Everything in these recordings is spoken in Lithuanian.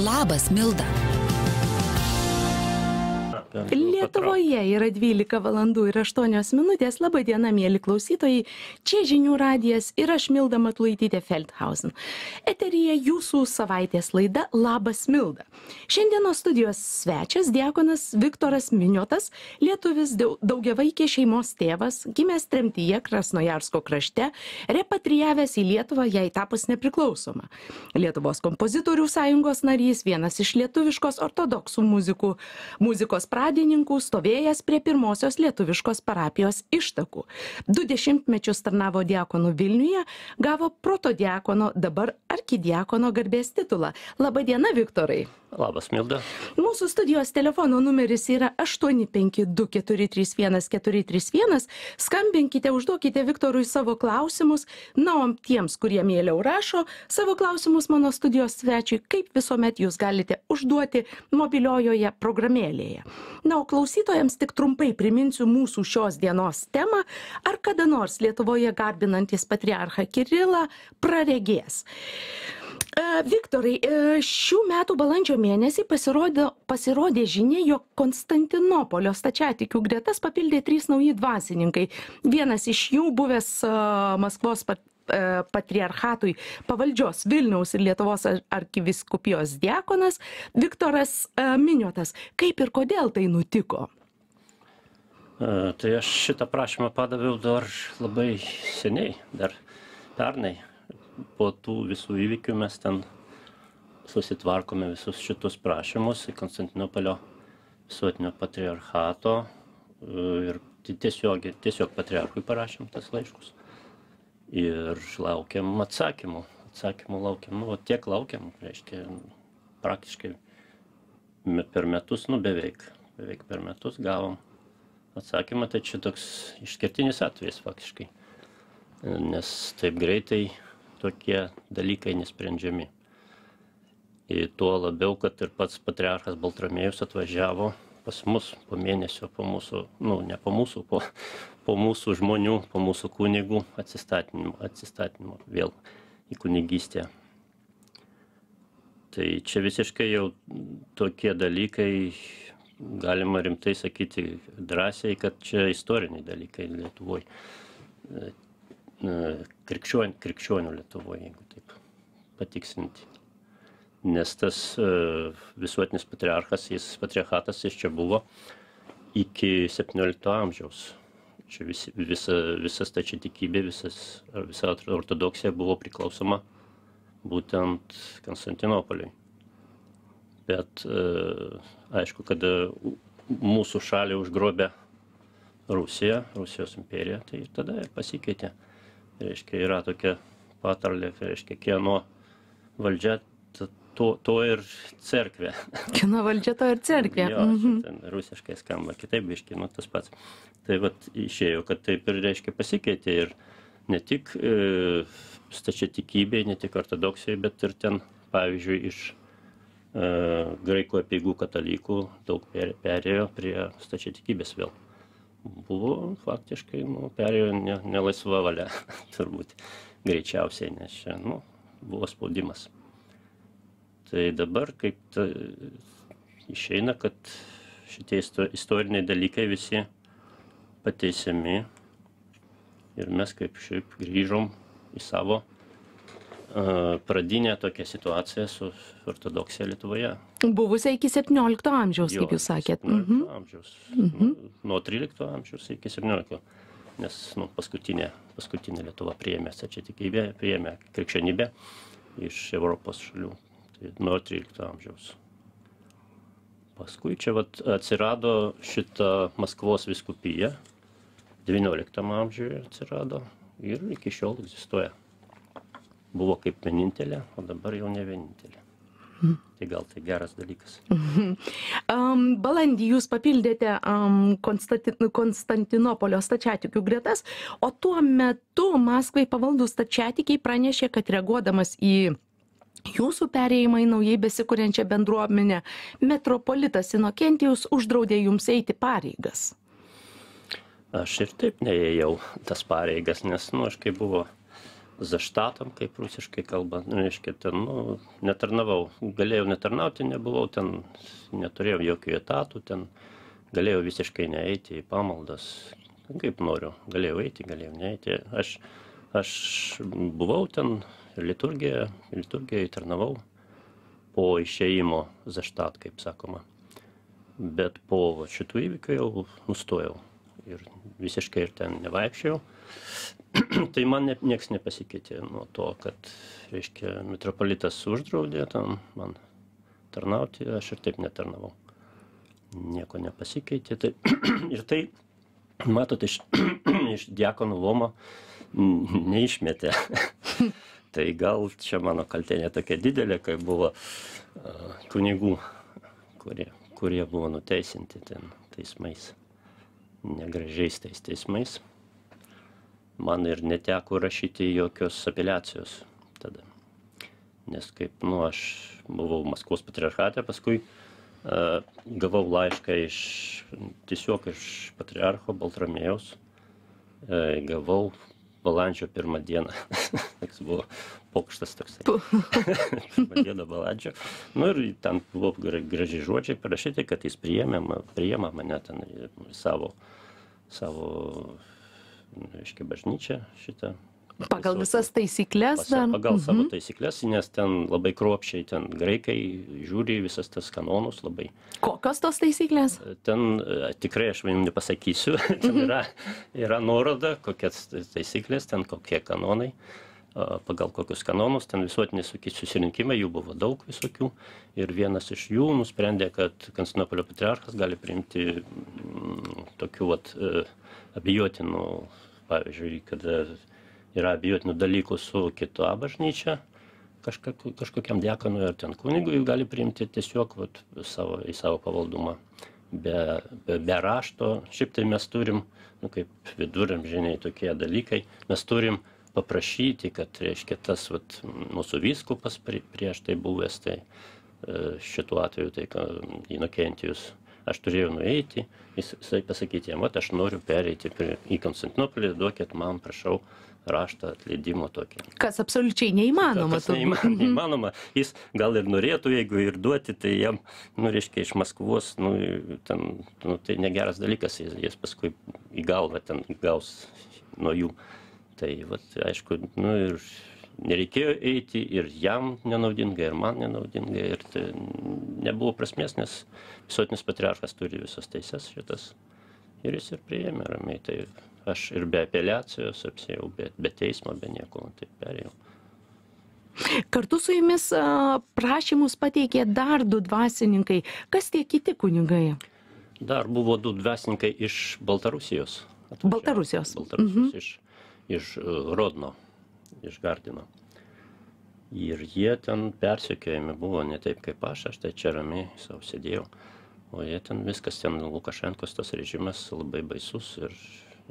Labas, Milda. Lietuvoje yra 12 valandų ir 8 minutės. Labą dieną, mėly klausytojai. Čia Žinių radijas ir aš, Milda Matulaitytė Feldhausen. Eteryje jūsų savaitės laida Labas, Milda. Šiandienos studijos svečias diakonas Viktoras Miniotas, lietuvis daugiavaikės šeimos tėvas, gimęs tremtyje Krasnojarsko krašte, repatrijavęs į Lietuvą jai tapus nepriklausoma. Lietuvos kompozitorių sąjungos narys, vienas iš lietuviškos ortodoksų muzikos pradininkų, stovėjęs prie pirmosios lietuviškos parapijos ištakų. 20 mečius tarnavo diakonu Vilniuje, gavo protodiakono, dabar arkidiakono garbės titulą. Labą dieną, Viktorai. Labas, Milda. Mūsų studijos telefono numeris yra 852-431-431. Skambinkite, užduokite Viktorui savo klausimus. Na, o tiems, kurie mieliau rašo, savo klausimus mano studijos svečiui, kaip visuomet jūs galite užduoti mobiliojoje programėlėje. Na, o klausytojams tik trumpai priminsiu mūsų šios dienos temą, ar kada nors Lietuvoje garbinantis patriarchą Kirilą praregės. Viktorai, šių metų balandžio mėnesį pasirodė žinia, jog Konstantinopolio stačiatikių gretas papildė 3 nauji dvasininkai. Vienas iš jų buvęs Maskvos patriarchatui pavaldžios Vilniaus ir Lietuvos arkivyskupijos diakonas Viktoras Miniotas. Kaip ir kodėl tai nutiko? Tai aš šitą prašymą padaviau dar labai seniai, dar pernai. Po tų visų įvykių mes ten susitvarkome visus šitus prašymus į Konstantinopolio visuotinio patriarchato ir tiesiog patriarchui parašėm tas laiškus. Ir laukiam atsakymų. Atsakymų laukiam, tiek laukiam, reiškia, praktiškai per metus, beveik per metus gavom atsakymą, tai čia toks išskirtinis atvejis faktiškai, nes taip greitai tokie dalykai nesprendžiami. Ir tuo labiau, kad ir pats patriarchas Baltramiejus atvažiavo pas mus po mėnesio, po mūsų, ne po mūsų, po mūsų žmonių, po mūsų kunigų atsistatymo vėl į kunigystę. Tai čia visiškai jau tokie dalykai, galima rimtai sakyti drąsiai, kad čia istoriniai dalykai Lietuvoje. Krikščionių Lietuvoje, jeigu taip patikslinti. Nes tas visuotinis patriarchatas jis čia buvo iki 17 amžiaus. Čia visa stačiatikybė, visa ortodoksija buvo priklausoma būtent Konstantinopoliui. Bet aišku, kada mūsų šalį užgrobė Rusijos imperija, tai tada ir pasikeitė. Reiškia, yra tokia patarlė, reiškia, kieno valdžia, to ir cerkvė. Kieno valdžia, to ir cerkvė. Jo, ten rusiškai skamba kitaip, biškai, tas pats. Tai vat išėjo, kad taip ir, reiškia, pasikeitė ir ne tik stačiatikybė, ne tik ortodoksijai, bet ir ten, pavyzdžiui, iš graikų apeigų katalikų daug perėjo prie stačiatikybės vėl. Buvo faktiškai, perėjo nelaisva valia, turbūt greičiausiai, nes čia, buvo spaudimas. Tai dabar kaip išeina, kad šitie istoriniai dalykai visi pateisiami ir mes kaip šiaip grįžom į savo pradinę tokią situaciją su ortodoksija Lietuvoje. Buvusia iki 17 amžiaus, kaip jūs sakėt. 17 amžiaus. Nuo 13 amžiaus iki 17. Nes paskutinė Lietuva priėmė stačiatikybę, priėmė krikščionybę iš Europos šalių. Tai nuo 13 amžiaus. Paskui čia atsirado šita Maskvos vyskupija, 19 amžiuje atsirado ir iki šiol egzistuoja. Buvo kaip vienintelė, o dabar jau ne vienintelė. Tai gal tai geras dalykas. Balandį jūs papildėte Konstantinopolio stačiatikių gretas, o tuo metu Maskvai pavaldūs stačiatikiai pranešė, kad reaguodamas į jūsų perėjimą į naujai besikuriančią bendruomenę, metropolitas Inokentijus uždraudė jums eiti pareigas. Aš ir taip neėjau tas pareigas, nes, aš kai buvo zaštatam, kaip rusiškai kalba, reiškia, ten, nu, netarnavau, galėjau netarnauti, nebuvau ten, neturėjau jokių etatų, ten galėjau visiškai neeiti į pamaldas, kaip noriu, galėjau eiti, galėjau neeiti, aš buvau ten liturgijoje tarnavau po išėjimo zaštat, kaip sakoma, bet po šitų įvykių jau nustojau ir visiškai ir ten nevaikščiau. Tai man nieks nepasikeitė nuo to, kad, reiškia, metropolitas uždraudė tam man tarnauti, aš ir taip netarnavau. Nieko nepasikeitė. Tai, ir tai, matot, iš diakonų luomo neišmetė. Tai gal čia mano kaltė ne tokia didelė, kai buvo kunigų, kurie buvo nuteisinti ten teismais, negražiais tais teismais. Man ir neteko rašyti jokios apeliacijos tada. Nes kaip, nu, aš buvau Maskvos patriarchate, paskui gavau laišką tiesiog iš patriarcho Baltramėjaus. Gavau balandžio 1 dieną. Toks buvo pokštas toksai. 1 dieną balandžio. Nu ir ten buvo gražiai žodžiai parašyti, kad jis priėmė mane ten savo reiškia, bažnyčią šitą. Pagal visas taisyklės? Pagal savo taisyklės, nes ten labai kruopščiai, ten graikai žiūri visas tas kanonus labai. Kokios tos taisyklės? Ten tikrai aš jums nepasakysiu, ten yra nuoroda, kokias taisyklės, ten kokie kanonai, pagal kokius kanonus, ten visuotiniai susirinkimai, jų buvo daug visokių ir vienas iš jų nusprendė, kad Konstantinopolio patriarchas gali priimti tokių abejotinų, pavyzdžiui, kada yra abejotinų dalykų su kita bažnyčia, kažkokiam diakonui ar ten kunigui gali priimti tiesiog į savo pavaldumą. Be rašto, šiaip tai mes turim, nu, kaip viduramžiniai tokie dalykai, mes turim paprašyti, kad, reiškia, tas mūsų vyskupas prieš tai buvęs, tai šituo atveju, tai Inokentijus, aš turėjau nueiti, jisai pasakyti jam, aš noriu pereiti į Konstantinopolį, duokit man, prašau, raštą atleidimo tokį. Kas absoliučiai neįmanoma. Kas neįmanoma. Jis gal ir norėtų, jeigu ir duoti, tai jam, nu, reiškia, iš Maskvos, nu, ten, nu, tai negeras dalykas, jis paskui į galvą ten gaus nuo jų. Tai, aišku, nu, ir nereikėjo eiti, ir jam nenaudinga, ir man nenaudinga, ir tai nebuvo prasmės, nes visuotinis patriarchas turi visas teises šitas, ir jis ir priėmė ramiai. Tai aš ir be apeliacijos apsėjau, be teismo, be nieko, taip perėjau. Kartu su jumis prašymus pateikė dar 2 dvasininkai. Kas tie kiti kunigai? Dar buvo 2 dvasininkai iš Baltarusijos. Baltarusijos. Iš Rodno, iš Gardino. Ir jie ten persekiojami buvo ne taip kaip aš tai čia ramiai savo sėdėjau. O jie ten viskas, ten Lukašenkos tas režimas labai baisus ir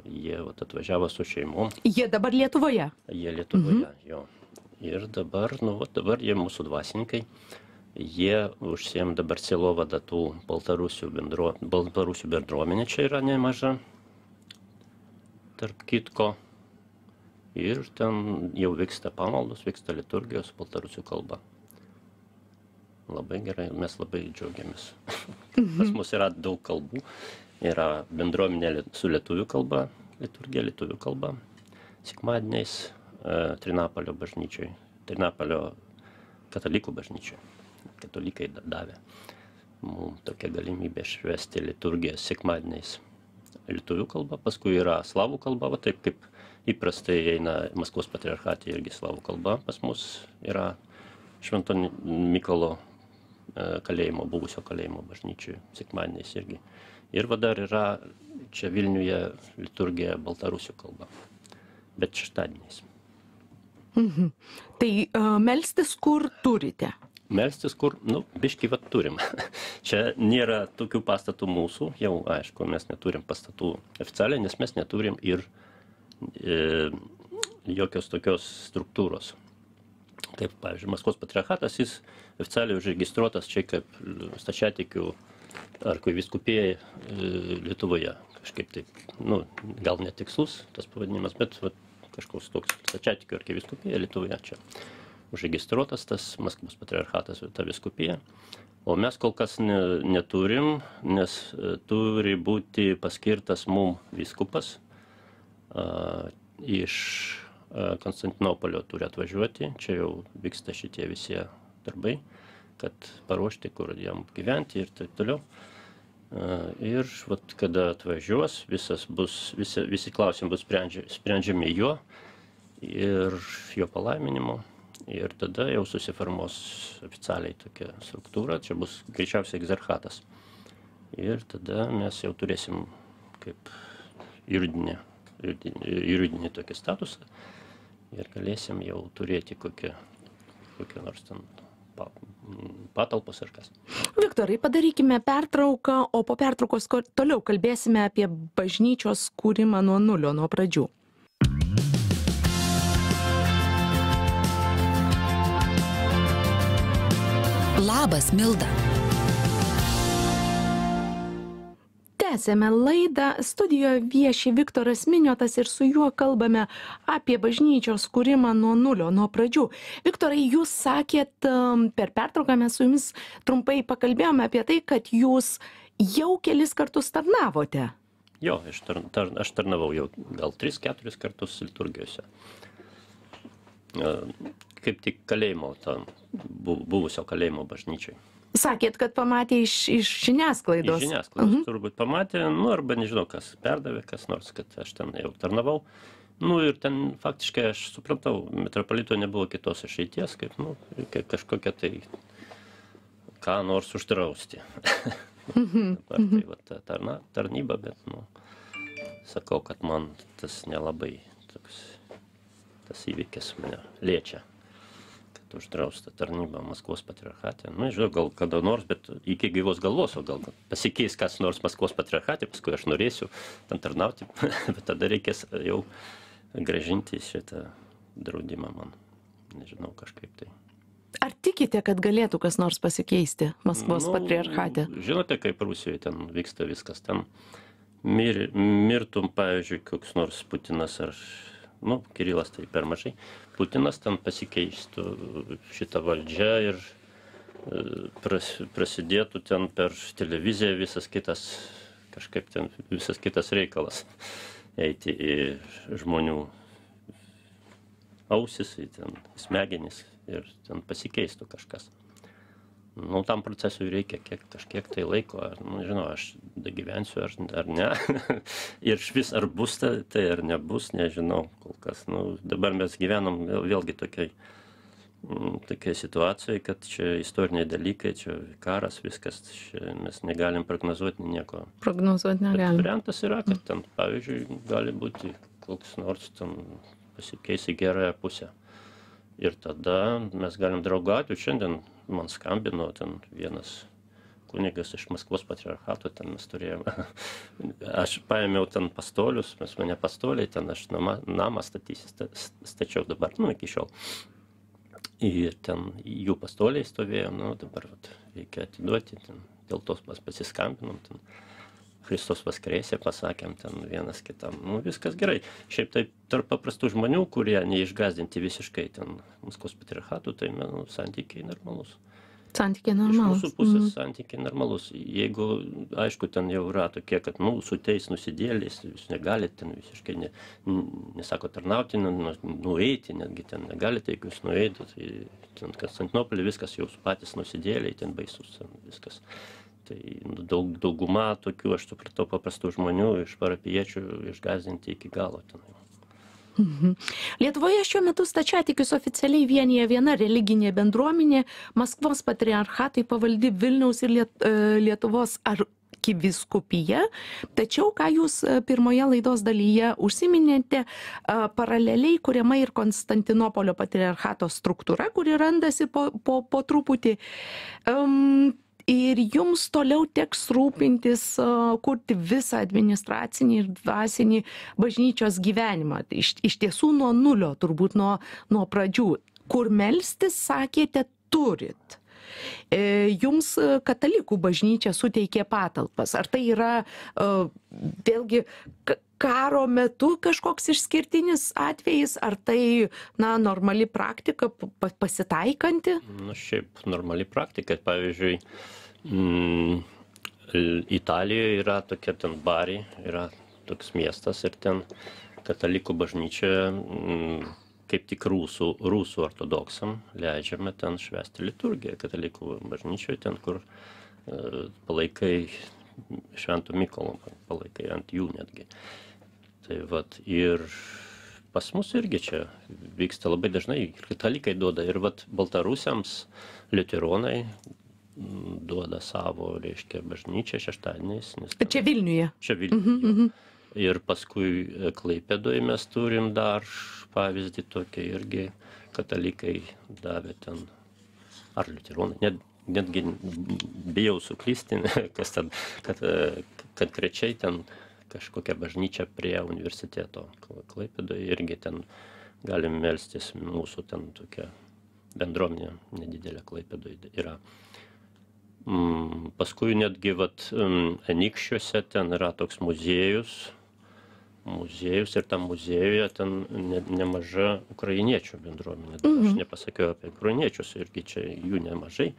jie atvažiavo su šeimom. Jie dabar Lietuvoje? Jie Lietuvoje, jo. Ir dabar, dabar jie mūsų dvasininkai, jie užsiėm dabar sielovadą tų Baltarusių bendruomenė čia yra nemaža, tarp kitko. Ir ten jau vyksta pamaldos, vyksta liturgijos Baltarusių kalba. Labai gerai, mes labai džiaugiamės. Pas mus yra daug kalbų. Yra bendruomenė su lietuvių kalba, liturgija lietuvių kalba. Sekmadieniais Trinapolio bažnyčioj, Trinapolio katalikų bažnyčioj. Katalikai davė mums tokią galimybę švęsti liturgiją sekmadieniais lietuvių kalba. Paskui yra slavų kalba, taip kaip įprastai eina Maskvos patriarchatė irgi slavų kalba. Pas mus yra Švento Mykolo kalėjimo, buvusio kalėjimo bažnyčioj sekmadieniais irgi. Ir dar yra čia Vilniuje liturgija baltarusių kalba, bet šeštadieniais. Tai melstis kur turite? Melstis kur, biškį turim. Čia nėra tokių pastatų mūsų, jau aišku, mes neturim pastatų oficialiai, nes mes neturim ir jokios tokios struktūros. Kaip, pavyzdžiui, Maskvos patriarchatas, jis oficialiai užregistruotas čia kaip stačiatikių arkivyskupija Lietuvoje. Kažkaip taip, gal netikslus tas pavadinimas, bet kažkoks toks stačiatikių arkivyskupija Lietuvoje čia užregistruotas tas Maskvos patriarchatas, ta vyskupija. O mes kol kas neturim, nes turi būti paskirtas mum vyskupas iš Konstantinopolio turi atvažiuoti, čia jau vyksta šitie visi darbai, kad paruošti, kur jam gyventi ir taip toliau. Ir vat, kada atvažiuos, visi klausimai bus sprendžiami jo ir jo palaiminimo. Ir tada jau susiformuos oficialiai tokia struktūra, čia bus greičiausiai egzarchatas. Ir tada mes jau turėsim kaip juridinį tokį statusą ir galėsim jau turėti kokią nors ten patalpos ar kas. Viktorai, padarykime pertrauką, o po pertraukos toliau kalbėsime apie bažnyčios kūrimą nuo nulio, nuo pradžių. Labas, Milda. Tęsėme laidą, studijoje vieši Viktoras Miniotas ir su juo kalbame apie bažnyčios kūrimą nuo nulio, nuo pradžių. Viktorai, jūs sakėt, per pertrauką mes su jumis trumpai pakalbėjome apie tai, kad jūs jau kelis kartus tarnavote. Jo, aš tarnavau jau gal 3-4 kartus liturgijose. Kaip tik kalėjimo, buvusio kalėjimo bažnyčiai. Sakėt, kad pamatė iš žiniasklaidos. Iš žiniasklaidos turbūt pamatė, arba nežinau, kas perdavė, kas nors, kad aš ten jau tarnavau. Ir ten faktiškai aš supratau, metropolito nebuvo kitos išeities, kaip kažkokia tai ką nors uždrausti. Dabar tai va ta tarnyba, bet sakau, kad man tas nelabai toks, tas įvykis mane liečia. Uždrausta tarnyba Maskvos patriarchate. Žinau, gal kada nors, bet iki gyvos galvos, o gal pasikeis kas nors Maskvos patriarchate, paskui aš norėsiu ten tarnauti, bet tada reikės jau grąžinti šitą draudimą man. Nežinau, kažkaip tai. Ar tikite, kad galėtų kas nors pasikeisti Maskvos patriarchate? Žinote, kaip Rusijoje ten vyksta viskas. Ten mirtum, pavyzdžiui, koks nors Putinas ar Kirilas tai per mažai. Putinas ten pasikeistų šitą valdžią ir prasidėtų ten per televiziją visas kitas reikalas. Eiti į žmonių ausis, į smegenis ir ten pasikeistų kažkas. Tam procesui reikia kažkiek tai laiko, nežinau, aš gyvensiu ar ne. Ir vis ar bus tai ar nebus, nežinau kol kas. Dabar mes gyvenam vėlgi tokiai situacijai, kad čia istoriniai dalykai, čia karas, viskas, čia mes negalim prognozuoti nieko. Prognozuoti negalim. Variantas yra, kad ten, pavyzdžiui, gali būti koks nors ten pasikeis į gerąją pusę. Ir tada mes galim draugauti. Šiandien man skambino ten vienas kunigas iš Maskvos patriarchato, ten mes turėjome. Aš paėmiau ten pastolius, mane pastoliai, ten aš namą stačiau dabar, iki šiol. Ir ten jų pastoliai stovėjo, dabar reikia atiduoti, dėl tos pasiskambinom, Kristus vaskrėsė, pasakėm ten vienas kitam. Viskas gerai. Šiaip taip tarp paprastų žmonių, kurie neišgazdinti visiškai ten Maskvos patriarchatų, tai santykiai normalus. Santykiai normalus. Iš mūsų pusės santykiai normalus. Jeigu, aišku, ten jau yra tokie, kad su tais nusidėliais, jūs negalite ten visiškai, nesako tarnauti, nueiti, netgi ten negalite, jeigu jūs nueitų, tai ten Konstantinopolį viskas jau patys nusidėliai, ten baisus, viskas. Tai dauguma tokių, aš supratau, paprastų žmonių iš parapijiečių išgąsdinti iki galo. Lietuvoje šiuo metu stačiatikius oficialiai vienija viena religinė bendruomenė, Maskvos patriarchatui pavaldi Vilniaus ir Lietuvos arkivyskupija. Tačiau, ką jūs pirmoje laidos dalyje užsiminėte, paraleliai kuriama ir Konstantinopolio patriarchato struktūra, kuri randasi po truputį. Ir jums toliau teks rūpintis, kurti visą administracinį ir dvasinį bažnyčios gyvenimą. Iš tiesų nuo nulio, turbūt nuo pradžių. Kur melstis, sakėte, turit. Jums katalikų bažnyčia suteikė patalpas. Ar tai yra vėlgi karo metu kažkoks išskirtinis atvejis, ar tai, normali praktika, pasitaikanti? Šiaip normali praktika. Pavyzdžiui, Italijoje yra tokia ten Bari, yra toks miestas ir ten katalikų bažnyčia kaip tik rusų ortodoksam leidžiame ten švęsti liturgiją katalikų bažnyčioje, ten kur palaikai Švento Mykolo, palaikai ant jų netgi. Tai vat, ir pas mus irgi čia vyksta labai dažnai, katalikai duoda, ir vat baltarusiams liuteronai duoda savo, reiškia, bažnyčią šeštadieniais. Čia Vilniuje? Čia Vilniuje. Ir paskui Klaipėdoje mes turim dar pavyzdį tokį irgi, katalikai davė ten, ar liuteronai, netgi bijau suklysti, kas ten, kad konkrečiai ten kažkokia bažnyčia prie universiteto Klaipėdoje, irgi ten galim melstis, mūsų ten tokia bendruomenė nedidelė Klaipėdoje yra. Paskui netgi Anykščiuose ten yra toks muziejus ir tam muziejuje ten nemaža ukrainiečių bendruomenė. Aš nepasakiau apie ukrainiečius, irgi čia jų nemažai.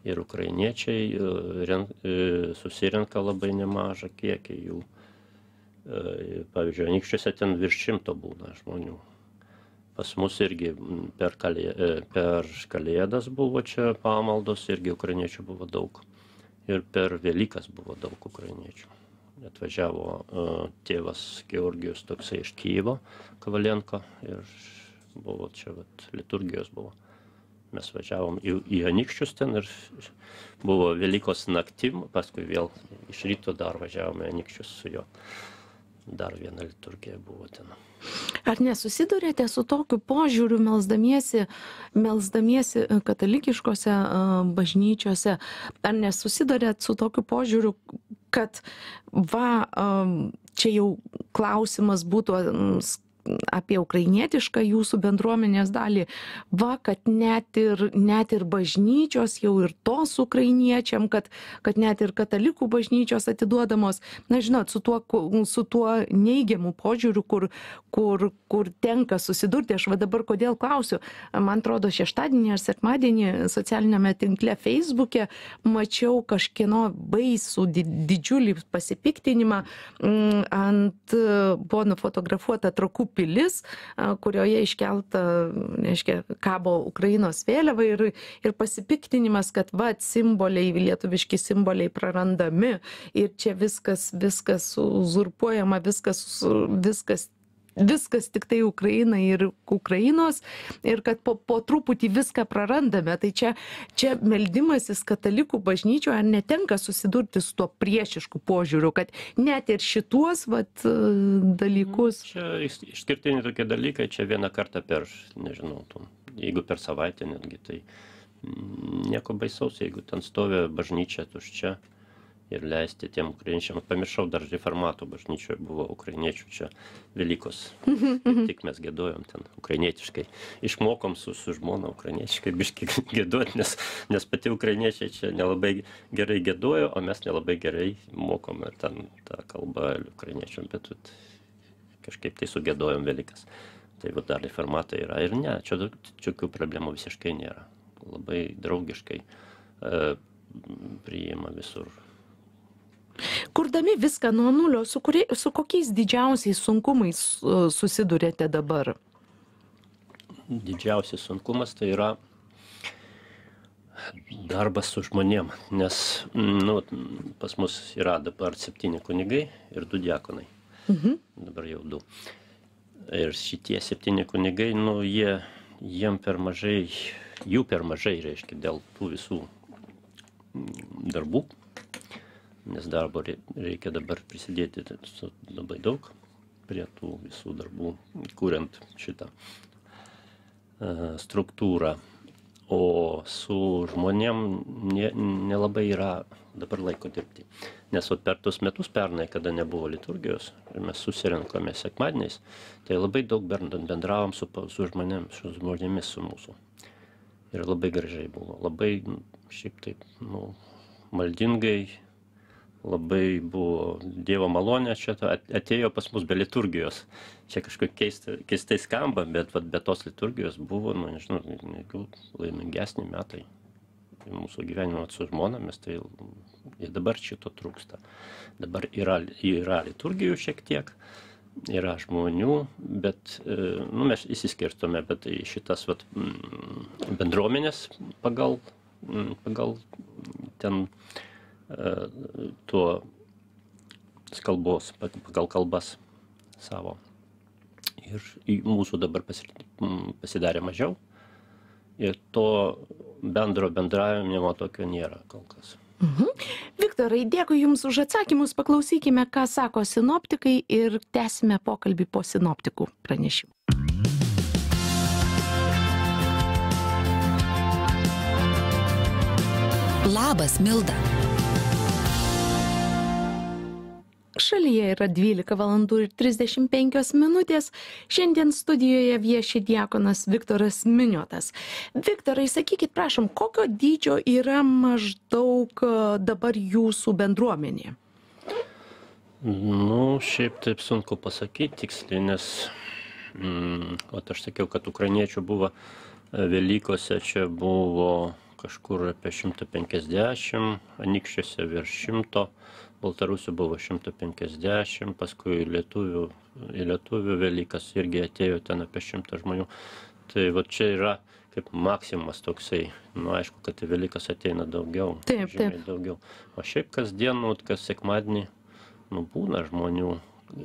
Ir ukrainiečiai susirenka labai nemažą kiekį jų. Pavyzdžiui, Anykščiuose ten virš 100 būna žmonių. Pas mus irgi per Kalėdas buvo čia pamaldos, irgi ukrainiečių buvo daug. Ir per Velykas buvo daug ukrainiečių. Atvažiavo tėvas Georgijus toksai iš Kijevo, Kavalenko, ir buvo čia liturgijos buvo. Mes važiavom į Anykščius ten ir buvo Velykos naktim, paskui vėl iš ryto dar važiavome Anykščius su juo. Dar viena liturgija buvo ten. Ar nesusidurėte su tokiu požiūriu melsdamiesi katalikiškose bažnyčiose? Ar nesusidurėt su tokiu požiūriu, kad čia jau klausimas būtų apie ukrainietišką jūsų bendruomenės dalį, kad net ir bažnyčios jau ir tos ukrainiečiam, kad net ir katalikų bažnyčios atiduodamos, žinot, su tuo neigiamu požiūriu, kur tenka susidurti. Aš dabar kodėl klausiu, man atrodo, šeštadienį ar sekmadienį socialinėme tinkle Facebook'e mačiau kažkieno baisų didžiulį pasipiktinimą, buvo nufotografuota Trakų pilis, kurioje iškelta, reiškia, kabo Ukrainos vėliava ir pasipiktinimas, kad simboliai, lietuviški simboliai prarandami ir čia viskas uzurpuojama, viskas tik tai Ukrainai ir Ukrainos, ir kad po truputį viską prarandame. Tai čia meldimasis katalikų bažnyčioje, ar netenka susidurti su tuo priešišku požiūriu, kad net ir šituos dalykus. Čia išskirtiniai tokie dalykai, čia vieną kartą per, nežinau, jeigu per savaitę netgi, tai nieko baisaus, jeigu ten stovi bažnyčia tuščia. Ir leisti tiem ukrainiečiam. Pamiršau, dar reformatų bažnyčioje buvo ukrainiečių čia Velykos. Tik mes giedojom ten ukrainietiškai. Išmokom su žmona ukrainietiškai biškį giedoti, nes pati ukrainiečiai čia nelabai gerai giedojo, o mes nelabai gerai mokom ir ten tą kalbą ukrainiečiam, bet kažkaip tai sugėdojom Velykas. Tai dar reformatai yra ir ne, čia jokių problemų visiškai nėra. Labai draugiškai priima visur. Kurdami viską nuo nulio, su kokiais didžiausiais sunkumais susidurėte dabar? Didžiausias sunkumas tai yra darbas su žmonėm, nes pas mus yra dabar 7 kunigai ir 2 diakonai. Dabar jau 2. Ir šitie 7 kunigai, jų per mažai, reiškia, dėl tų visų darbų. Nes darbo reikia dabar prisidėti labai daug prie tų visų darbų, kuriant šitą struktūrą. O su žmonėm nelabai yra dabar laiko dirbti. Nes per tuos metus pernai, kada nebuvo liturgijos, ir mes susirinkome sekmadieniais, tai labai daug bendravom su žmonėmis su mūsų. Ir labai gražiai buvo. Labai šiaip taip, nu, maldingai, labai buvo Dievo malonė, čia atėjo pas mus be liturgijos. Čia kažkaip keistai skamba, bet be tos liturgijos buvo, nu, nežinau, laimingesni metai mūsų gyvenimo su žmonomis, tai ir dabar šito trūksta. Dabar yra liturgijų šiek tiek, yra žmonių, bet, nu, mes įsiskirstome, bet šitas bendruomenės pagal ten tuo kalbos, pagal kalbas savo. Ir mūsų dabar pasidarė mažiau. Ir to bendro bendravimo tokio nėra kol kas. Viktorai, dėkui Jums už atsakymus. Paklausykime, ką sako sinoptikai ir tęsime pokalbį po sinoptikų pranešimų. Labas, Milda. Šalyje yra 12 valandų ir 35 minutės. Šiandien studijoje vieši diakonas Viktoras Miniotas. Viktorai, sakykit, prašom, kokio dydžio yra maždaug dabar jūsų bendruomenė? Nu, šiaip taip sunku pasakyti tiksliai, nes aš sakiau, kad ukrainiečių buvo Velykose, čia buvo kažkur apie 150, Anykščiuose virš 100, Baltarusių buvo 150, paskui lietuvių Velykas irgi atėjo ten apie 100 žmonių. Tai va čia yra kaip maksimumas toksai, nu aišku, kad į Velykas ateina daugiau, žymiai daugiau. O šiaip kasdien, kas sekmadienį, nu būna žmonių,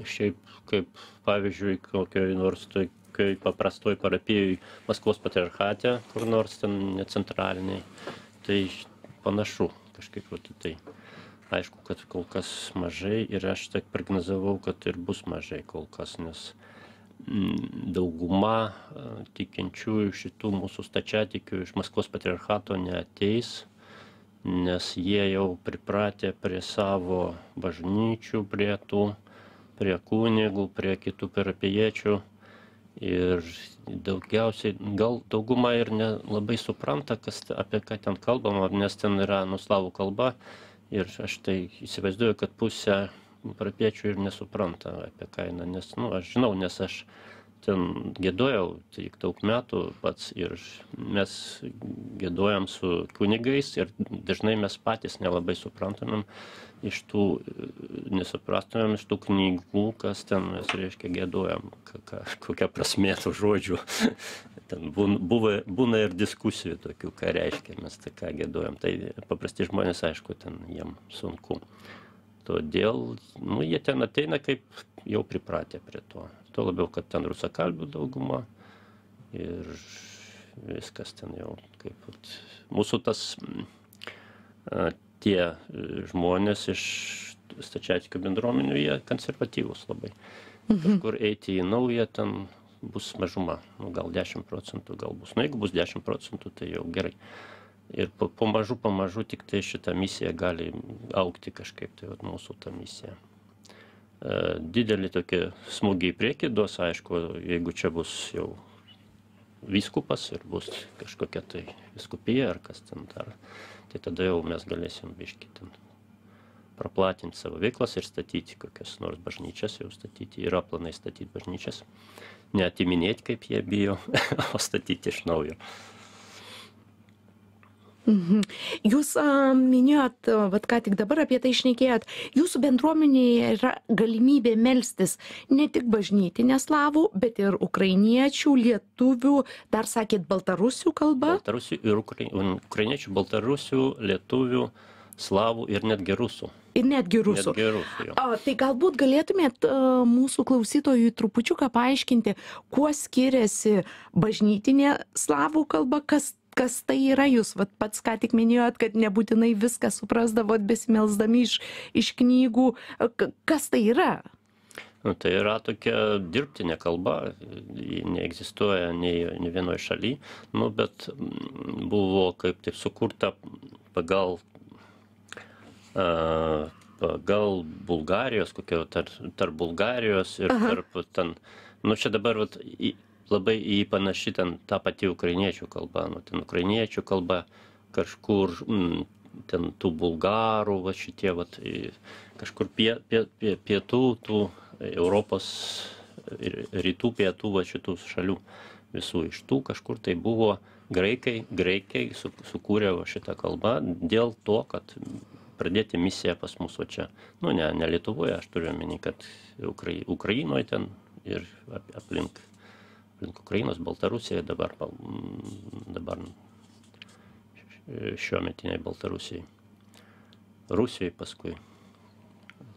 šiaip kaip pavyzdžiui kokioj nors tokioj paprastoj parapijoj Maskvos patriarchate, kur nors ten necentraliniai, tai panašu kažkaip tai. Aišku, kad kol kas mažai ir aš taip prognozavau, kad ir bus mažai kol kas, nes dauguma tikinčiųjų šitų mūsų stačiatikių iš Maskvos patriarchato neateis, nes jie jau pripratę prie savo bažnyčių, prie kunigų, prie kitų parapijiečių ir daugiausiai, gal dauguma ir nelabai supranta, apie ką ten kalbama, nes ten yra slavų kalba. Ir aš tai įsivaizduoju, kad pusė parapiečių ir nesupranta apie kainą, nes, aš žinau, nes aš ten giedojau tik daug metų pats ir mes giedojam su kunigais ir dažnai mes patys nelabai suprantamėm nesuprastumėm iš tų knygų, kas ten mes, reiškia, giedojam, kokia prasmė tų žodžių. Ten būna ir diskusijų tokių, ką reiškia mes tai ką giedojam. Tai paprasti žmonės, aišku, ten jiem sunku. Todėl, jie ten ateina kaip jau pripratę prie to. Tuo labiau, kad ten rusakalbių dauguma ir viskas ten jau kaip mūsų tie žmonės iš stačiatikių bendruomenių, jie konservatyvūs labai. Kažkur eiti į naują ten bus mažuma, gal 10% gal bus. Jeigu bus 10%, tai jau gerai. Ir pamažu tik tai šitą misiją gali augti kažkaip, tai mūsų ta misija. Didelį tokį smūgį į priekį duos, aišku, jeigu čia bus jau vyskupas ir bus kažkokia tai vyskupija ar kas ten dar, tai tada jau mes galėsim biškį ten praplatinti savo veiklas ir statyti kokias nors bažnyčias, jau statyti, yra planai statyti bažnyčias, neatiminėti, kaip jie bijo, o statyti iš naujo. Jūs minėjot, ką tik dabar apie tai šnekėjot, jūsų bendruomenėje yra galimybė melstis ne tik bažnytinė slavų, bet ir ukrainiečių, lietuvių, dar sakėt baltarusių kalba? Baltarusių ir ukrainiečių, baltarusių, lietuvių, slavų ir netgi rusų. Ir netgi rusų. Tai galbūt galėtumėt mūsų klausytojui trupučiuką paaiškinti, kuo skiriasi bažnytinė slavų kalba, kas tai yra, jūs pats ką tik minėjot, kad nebūtinai viską suprasdavot besimelsdami iš knygų. Kas tai yra? Tai yra tokia dirbtinė kalba, ji neegzistuoja nei vienoje šalyje, bet buvo kaip taip sukurta pagal Bulgarijos, tarp Bulgarijos ir tarp ten, čia dabar labai į panaši ten ta pati ukrainiečių kalba, ten ukrainiečių kalba, kažkur ten tų bulgarų, va šitie, va, kažkur pietų, tų Europos, rytų pietų, va šitų šalių visų iš tų kažkur tai buvo graikai sukūrė va šitą kalbą dėl to, kad pradėti misiją pas mus, o čia, nu ne Lietuvoje, aš turiu omeny, kad Ukrainoje ten ir aplink Ukrainos, Baltarusijoje, dabar šiuo metiniai Baltarusijai, Rusijoje paskui,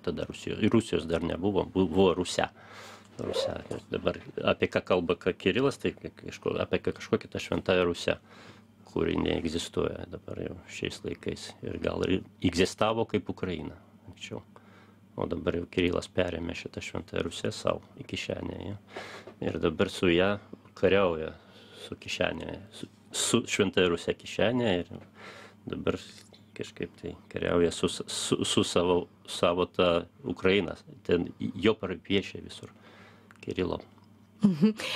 tada Rusijos dar nebuvo, buvo Rusia. Dabar apie ką kalba Kirilas, tai apie kažkokią tą šventąją Rusią, kuri neegzistuoja dabar jau šiais laikais ir gal ir egzistavo kaip Ukraina anksčiau. O dabar jau Kirilas perėmė šitą šventąją Rusią savo į kišenę. Ir dabar su ją kariauja su kišenė, su šventąja Rusija kišenė ir dabar kažkaip tai kariauja su savo tą Ukrainą. Ten jo parapiečiai visur Kirilo.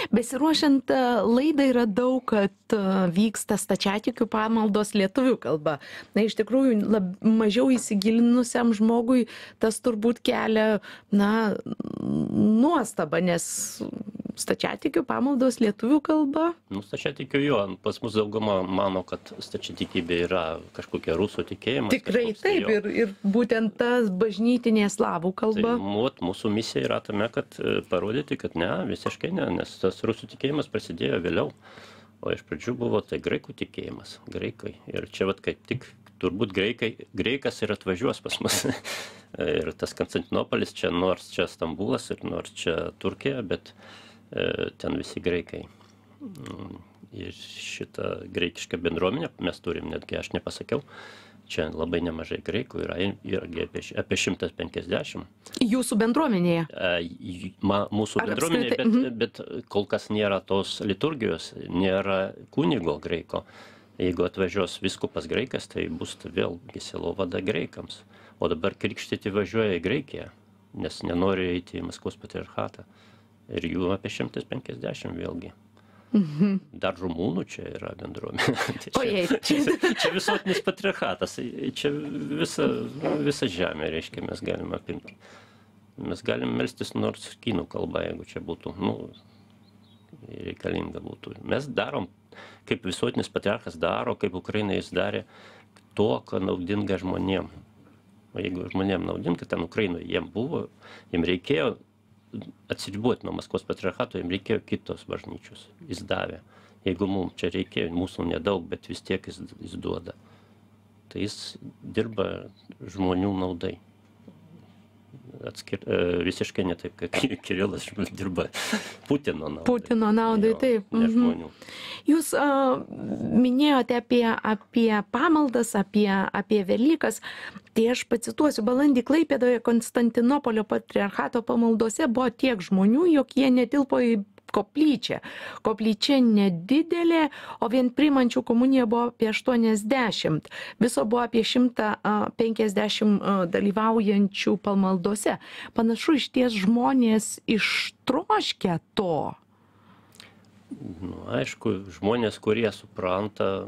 Besiruošiant laidą yra daug, kad vyksta stačiatikių pamaldos lietuvių kalba. Na, iš tikrųjų, mažiau įsigilinusiam žmogui tas turbūt kelia, nuostabą, nes stačiatikių pamaldos lietuvių kalba. Nu, stačiatikių jo, pas mus dauguma mano, kad stačiatikybė yra kažkokia rusų tikėjimas. Tikrai taip, ir būtent tas bažnytinė slavų kalba. Tai mūsų misija yra tame, kad parodyti, kad ne, visiškai ne, nes tas rusų tikėjimas prasidėjo vėliau. O iš pradžių buvo tai graikų tikėjimas, graikai. Ir čia kaip tik turbūt greikas ir atvažiuos pas mus. Ir tas Konstantinopolis čia, nors čia Stambulas ir nors čia Turkija, bet ten visi graikai. Ir šitą graikišką bendruomenę mes turim, netgi aš nepasakiau, čia labai nemažai graikų yra, irgi apie 150. Jūsų bendruomenėje? Mūsų bendruomenėje, bet kol kas nėra tos liturgijos, nėra kunigo graiko. Jeigu atvažiuos vyskupas graikas, tai bus vėl sielovada graikams. O dabar krikštyti važiuoja į Graikiją, nes nenori eiti į Maskvos patriarchatą. Ir jų apie 150 vėlgi. Dar rumūnų čia yra bendruomenė. Čia visuotinis patriarchatas. Čia visa žemė, reiškia, mes galime apimti. Mes galim melstis nors kinų kalba, jeigu čia būtų, reikalinga būtų. Mes darom, kaip visuotinis patriarchas daro, kaip Ukraina jis darė, to, ką naudinga žmonėm. O jeigu žmonėm naudinga, ten Ukrainoje jiem reikėjo atsiriboti nuo Maskvos patriarchato, jiems reikėjo kitos bažnyčios. Jis davė. Jeigu mums čia reikėjo, mūsų nedaug, bet vis tiek jis duoda. Tai jis dirba žmonių naudai. Visiškai ne taip, kaip Kirilas dirba Putino naudai. Putino naudai, taip. Ne žmonių. Jūs minėjote apie pamaldas, apie Velykas. Tai aš pacituosiu, balandį Klaipėdoje Konstantinopolio patriarchato pamaldose buvo tiek žmonių, jog jie netilpo į koplyčią. Koplyčia nedidelė, o vien priimančių komuniją buvo apie 80. Viso buvo apie 150 dalyvaujančių pamaldose. Panašu, išties žmonės ištroškia to. Aišku, žmonės, kurie supranta.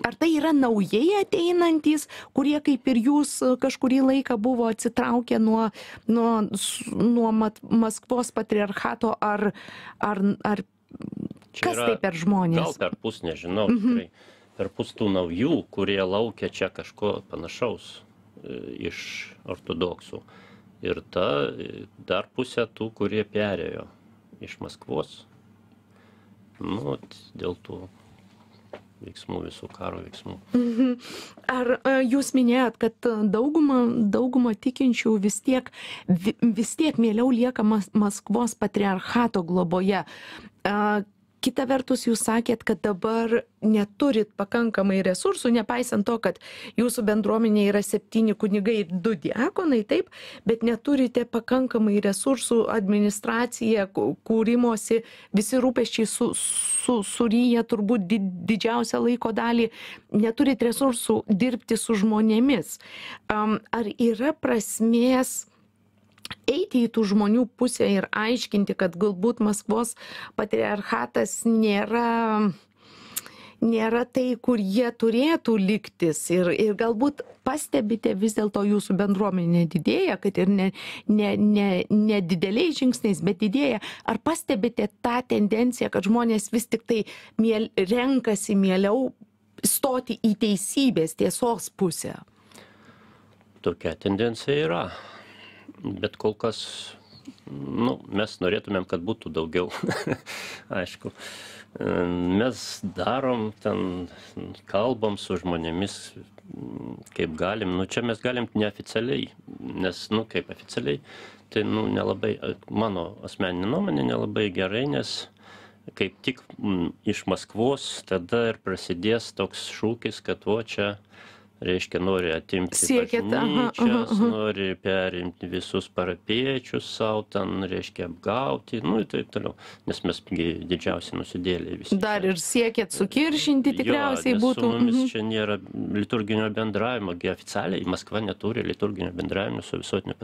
Ar tai yra naujai ateinantys, kurie kaip ir jūs kažkurį laiką buvo atsitraukę nuo Maskvos patriarchato, ar kas tai per žmonės? Gal per pus, nežinau, tikrai. Per pus tų naujų, kurie laukia čia kažko panašaus iš ortodoksų. Ir dar pusė tų, kurie perėjo iš Maskvos. Dėl tų veiksmų, visų karo veiksmų. Ar jūs minėjot, kad dauguma tikinčių vis tiek mieliau lieka Maskvos patriarchato globoje? Kita vertus, jūs sakėt, kad dabar neturit pakankamai resursų, nepaisant to, kad jūsų bendruomenė yra 7 kunigai ir 2 diakonai, taip, bet neturite pakankamai resursų, administracija, kūrimosi, visi rūpesčiai suryja turbūt didžiausią laiko dalį, neturit resursų dirbti su žmonėmis. Ar yra prasmės eiti į tų žmonių pusę ir aiškinti, kad galbūt Maskvos patriarchatas nėra nėra tai, kur jie turėtų liktis ir galbūt pastebite vis dėlto jūsų bendruomenė didėja, kad ir ne dideliais žingsniais, bet didėja. Ar pastebite tą tendenciją, kad žmonės vis tik tai renkasi mieliau stoti į teisybės, tiesos pusę? Tokia tendencija yra, bet kol kas, mes norėtumėm, kad būtų daugiau, aišku. Mes darom, ten kalbam su žmonėmis, kaip galim, čia mes galim neoficialiai, nes, kaip oficialiai, tai, nelabai, mano asmeninė nuomonė nelabai gerai, nes kaip tik iš Maskvos tada ir prasidės toks šūkis, kad čia, reiškia, nori atimti bažnyčias, nori perimti visus parapiečius savo, ten, reiškia, apgauti, ir taip toliau, nes mes didžiausi nusidėliai visi. Dar ir siekėt sukiršinti tikriausiai būtų. Su mumis čia nėra liturginio bendravimo, oficialiai Maskva neturi liturginio bendravimo su visuotiniu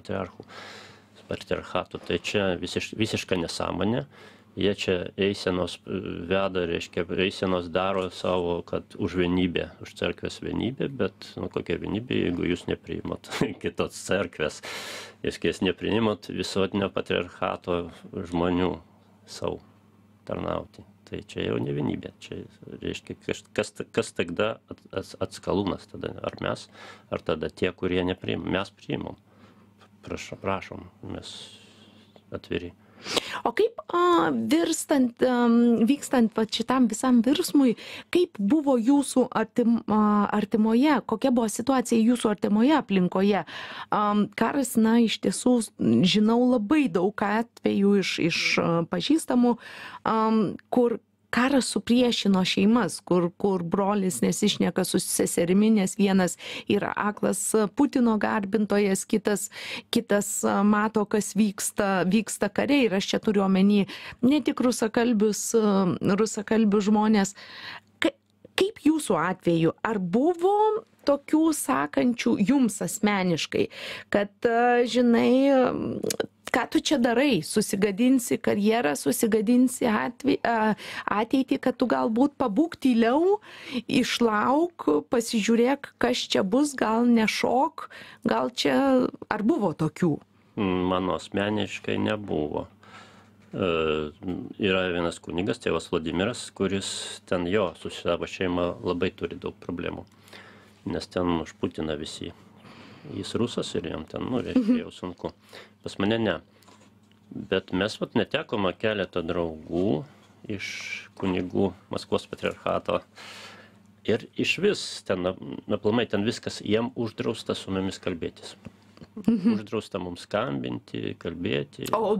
patriarchatu, tai čia visiška nesąmonė. Jie čia eisenos veda, reiškia, eisenos daro savo, kad už vienybę, už cerkvės vienybę, bet kokia vienybė, jeigu jūs nepriimat kitos cerkvės, jūs nepriimat visuotinio patriarchato žmonių savo tarnauti. Tai čia jau ne vienybė, čia reiškia, kas tada atskalūnas tada, ar mes, ar tada tie, kurie nepriimam, mes priimam. Prašom, mes atviri. O kaip vykstant šitam visam virsmui, kaip buvo jūsų artimoje, kokia buvo situacija jūsų artimoje aplinkoje? Karas, iš tiesų, žinau labai daug atvejų iš pažįstamų, kur karas supriešino šeimas, kur brolis nesišneka su seserimi, nes vienas yra aklas Putino garbintojas, kitas mato, kas vyksta kare, ir aš čia turiu omeny ne tik rusakalbius žmonės. Kaip jūsų atveju, ar buvo tokių sakančių jums asmeniškai, kad, žinai, ką tu čia darai, susigadinsi karjerą, susigadinsi ateitį, kad tu galbūt pabūk tyliau, išlauk, pasižiūrėk, kas čia bus, gal nešok, gal čia, ar buvo tokių? Mano asmeniškai nebuvo. Yra vienas kunigas, tėvas Vladimiras, kuris ten su savo šeima labai turi daug problemų, nes ten už Putiną visi. Jis rusas ir jam ten, reiškia, jau sunku. Pas mane ne. Bet mes netekome keletą draugų iš kunigų Maskvos patriarchato. Ir iš vis, aplamai ten viskas, jiem uždrausta su mumis kalbėtis. Uždrausta mums skambinti, kalbėti. O,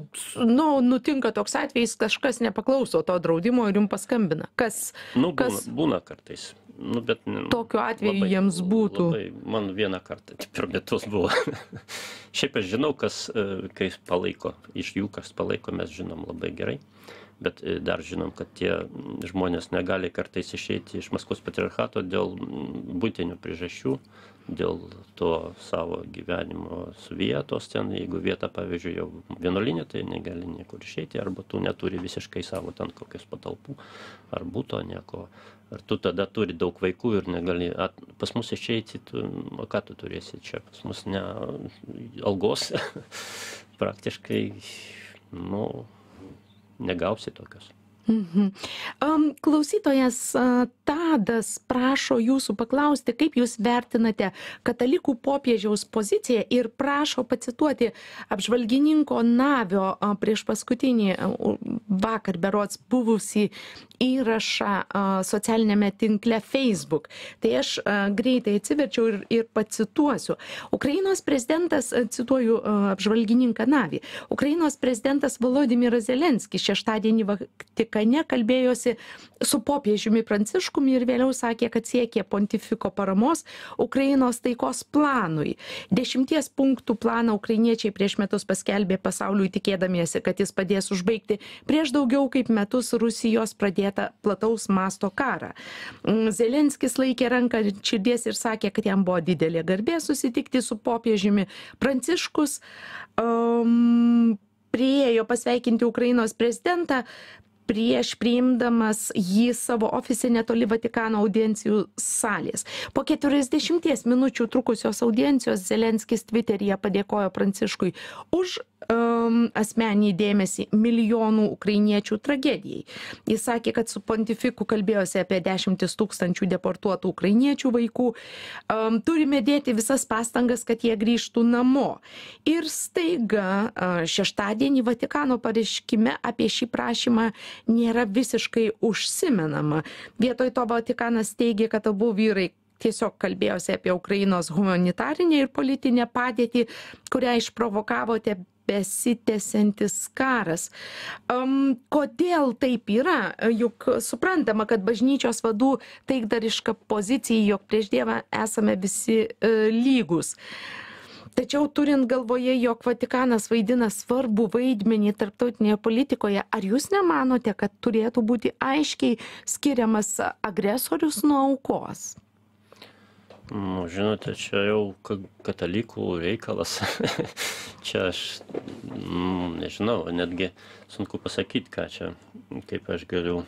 nutinka toks atvejis, kažkas nepaklauso to draudimo ir jums paskambina. Kas? Būna kartais. Bet tokiu atveju jiems būtų. Man vieną kartą per metus buvo. Šiaip aš žinau, kai palaiko, iš jų kas palaiko, mes žinom labai gerai. Bet dar žinom, kad tie žmonės negali kartais išeiti iš Maskvos patriarchato dėl būtinių priežasčių, dėl to savo gyvenimo vietos ten, jeigu vieta, pavyzdžiui, jau vienuolinė, tai negali niekur išeiti, arba tu neturi visiškai savo ten kokios patalpų, ar būto nieko, ar tu tada turi daug vaikų ir negali, pas mus išeiti, o ką tu turėsi čia, pas mus ne algos, praktiškai, negausi tokios. Klausytojas Tadas prašo jūsų paklausti, kaip jūs vertinate katalikų popiežiaus poziciją, ir prašo pacituoti apžvalgininko Navio prieš paskutinį vakar berods buvusį įrašą socialinėme tinkle Facebook. Tai aš greitai atsiverčiau ir pacituosiu. Ukrainos prezidentas, cituoju apžvalgininką Navį, Ukrainos prezidentas Volodymyras Zelenskis šeštadienį Vatikane kalbėjosi su popiežiumi Pranciškumi ir vėliau sakė, kad siekė pontifiko paramos Ukrainos taikos planui. 10 punktų planą ukrainiečiai prieš metus paskelbė pasauliui, tikėdamiesi, kad jis padės užbaigti prieš daugiau kaip metus Rusijos pradėtą plataus masto karą. Zelenskis laikė ranką ant širdies ir sakė, kad jam buvo didelė garbė susitikti su popiežiumi. Pranciškus priėjo pasveikinti Ukrainos prezidentą. prieš priimdamas jį savo ofise netoli Vatikano audiencijų salės. Po 40 minučių trukusios audiencijos Zelenskis Twitteryje padėkojo Pranciškui už asmenį dėmesį milijonų ukrainiečių tragedijai. Jis sakė, kad su pontifiku kalbėjosi apie 10 000 deportuotų ukrainiečių vaikų. Turime dėti visas pastangas, kad jie grįžtų namo. Ir staiga šeštadienį Vatikano pareiškime apie šį prašymą nėra visiškai užsimenama. Vietoj to Vatikanas teigia, kad abu vyrai tiesiog kalbėjosi apie Ukrainos humanitarinę ir politinę padėtį, kurią išprovokavote besitęsiantis karas. Kodėl taip yra? Juk suprantama, kad bažnyčios vadų taikdariška pozicija, jog prieš Dievą esame visi lygus. Tačiau turint galvoje, jog Vatikanas vaidina svarbų vaidmenį tarptautinėje politikoje, ar jūs nemanote, kad turėtų būti aiškiai skiriamas agresorius nuo aukos? Nu, žinote, čia jau katalikų reikalas. Čia aš nežinau, netgi sunku pasakyti, ką čia, kaip aš galiu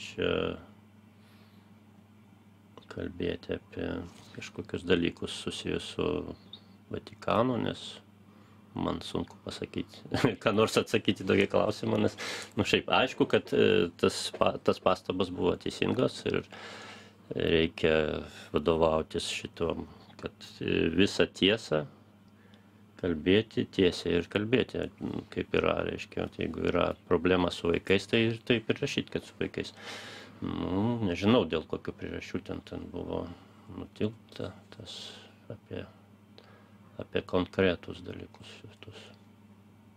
čia kalbėti apie kažkokius dalykus susijus su Vatikanu, nes man sunku pasakyti, ką nors atsakyti tokį klausimą, nes, šiaip aišku, kad tas pastabas buvo teisingos ir reikia vadovautis šitom, kad visą tiesą kalbėti tiesiai ir kalbėti, kaip yra, reiškia, jeigu yra problema su vaikais, tai ir taip ir rašyti, kad su vaikais. Nežinau, dėl kokių priežasčių ten buvo nutilta tas apie konkretus dalykus.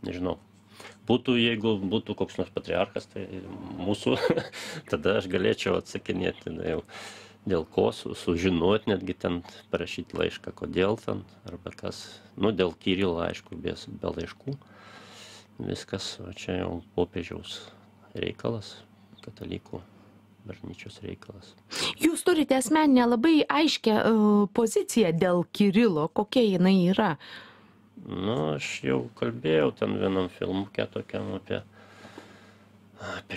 Nežinau. Jeigu būtų koks nors patriarchas, tai mūsų, tada aš galėčiau atsakinėti jau dėl ko, sužinoti, netgi ten parašyti laišką, kodėl ten, arba kas, dėl Kirilo, aišku, be laiškų, viskas, o čia jau popiežiaus reikalas, katalikų bažnyčios reikalas. Jūs turite asmeninę labai aiškę poziciją dėl Kirilo, kokia jinai yra? Aš jau kalbėjau ten vienam filmuke tokiam apie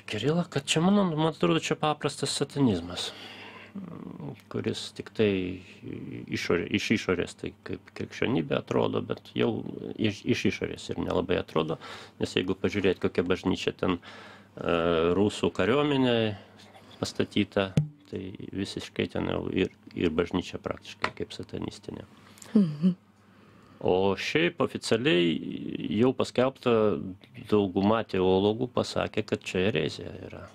Kirilą, kad čia, man atrodo, čia paprastas satanizmas, kuris tik tai iš išorės, tai kaip krikščionybė atrodo, bet jau iš išorės ir nelabai atrodo, nes jeigu pažiūrėti, kokia bažnyčia ten rusų kariuomenė pastatyta, tai visiškai ten jau ir bažnyčia praktiškai kaip satanistinė. O šiaip oficialiai jau paskelbta dauguma teologų pasakė, kad čia erezija yra.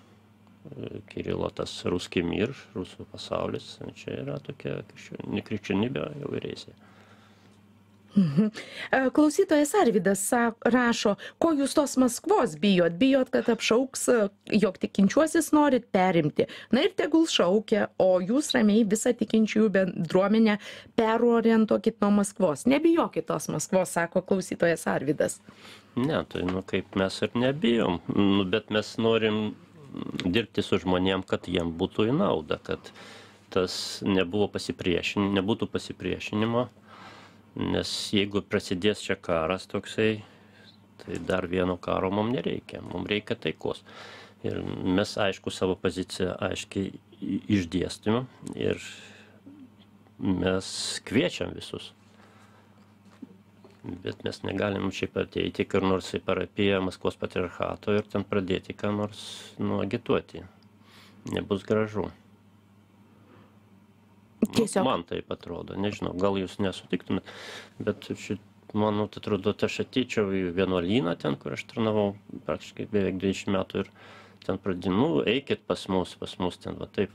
Kirilo tas ruski mir, rusų pasaulis, čia yra tokia nekrikščionybė, jau erezija. Klausytojas Arvydas rašo, ko jūs tos Maskvos bijot? Bijot, kad apšauks, jog tikinčiuosius norit perimti. Na ir tegul šaukia, o jūs ramiai visą tikinčiųjų bendruomenę perorientuokit nuo Maskvos. Nebijokit tos Maskvos, sako klausytojas Arvydas. Ne, tai kaip mes ir nebijom, bet mes norim dirbti su žmonėm, kad jiem būtų į naudą, kad tas nebūtų pasipriešinimo. Nes jeigu prasidės čia karas toksai, tai dar vieno karo mums nereikia, mums reikia taikos. Ir mes, aišku, savo poziciją aiškiai išdėstėme ir mes kviečiam visus. Bet mes negalim šiaip ateiti kur nors į parapiją Maskvos patriarchato ir ten pradėti ką nors agituoti. Nebus gražu. Man taip atrodo, nežinau, gal jūs nesutiktumėt, bet man atrodo, aš ateičiau į vienuolyną ten, kur aš tarnavau praktiškai beveik 20 metų ir ten pradinu, eikit pas mus ten va taip.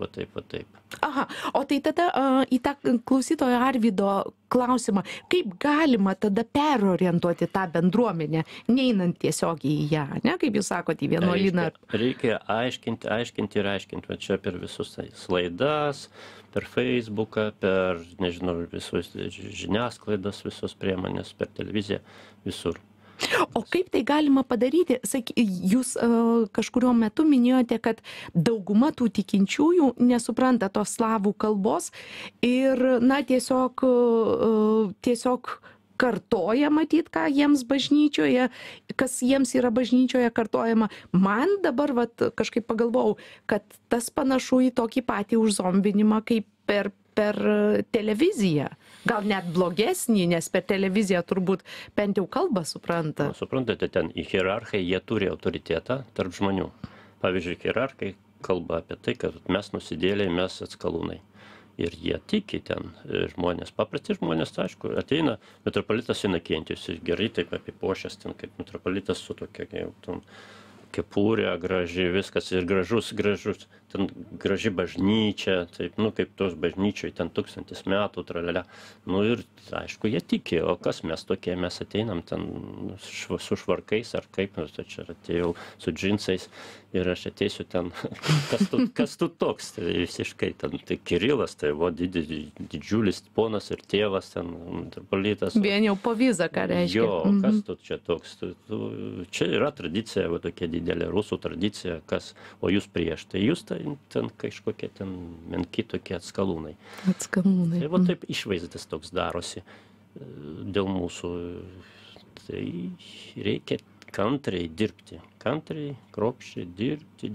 Aha, o tai tada į tą klausytojo Arvydo klausimą, kaip galima tada perorientuoti tą bendruomenę, neinant tiesiogiai į ją, ne, kaip jūs sakote, į vienuolyną? Reikia aiškinti, va čia per visus laidas, per Facebooką, per, nežinau, visus žiniasklaidas, visos priemonės, per televiziją, visur. O kaip tai galima padaryti? Jūs kažkuriuo metu minėjote, kad dauguma tų tikinčiųjų nesupranta tos slavų kalbos ir, na, tiesiog kartoja matyt, ką jiems bažnyčioje, kas jiems yra bažnyčioje kartojama. Man dabar vat, kažkaip pagalvojau, kad tas panašu į tokį patį užzombinimą kaip per televiziją. Gal net blogesnį, nes per televiziją turbūt bent jau kalbą supranta. Suprantate, ten hierarchai, jie turi autoritetą tarp žmonių. Pavyzdžiui, hierarchai kalba apie tai, kad mes nusidėliai, mes atskalūnai. Ir jie tiki ten žmonės, paprasti žmonės, aišku, ateina metropolitas Inakentijus, gerai taip apipošęs ten, kaip metropolitas su tokia kepurė, graži, viskas ir gražus, ten graži bažnyčia, taip, kaip tos bažnyčioj, ten 1000 metų, tralelė. Ir, aišku, jie tiki, o kas mes tokie, mes ateinam ten su švarkais ar kaip, čia atėjau su džinsais ir aš ateisiu ten, kas tu toks, tai visiškai ten, tai Kirilas, tai didžiulis ponas ir tėvas, ten metropolitas. Vien jau po vizą, ką reiškia. Jo, kas tu čia toks, čia yra tradicija, tokia didelė rusų tradicija, o jūs prieš, tai jūs ten kažkokie ten menki tokie atskalūnai. Atskalūnai. Tai taip išvaizdas toks darosi dėl mūsų. Tai reikia kantriai dirbti, kruopščiai dirbti.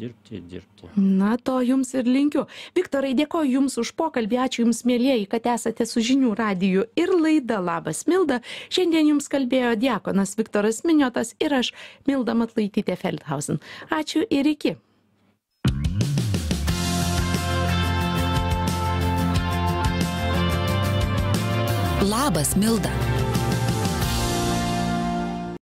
Na, to jums ir linkiu. Viktorai, dėkoju jums už pokalbį, ačiū jums, mielieji, kad esate su Žinių radiju ir laida Labas Milda. Šiandien jums kalbėjo diakonas Viktoras Miniotas ir aš, Milda Matlaitytė Feldhausen. Ačiū ir iki. Labas Milda.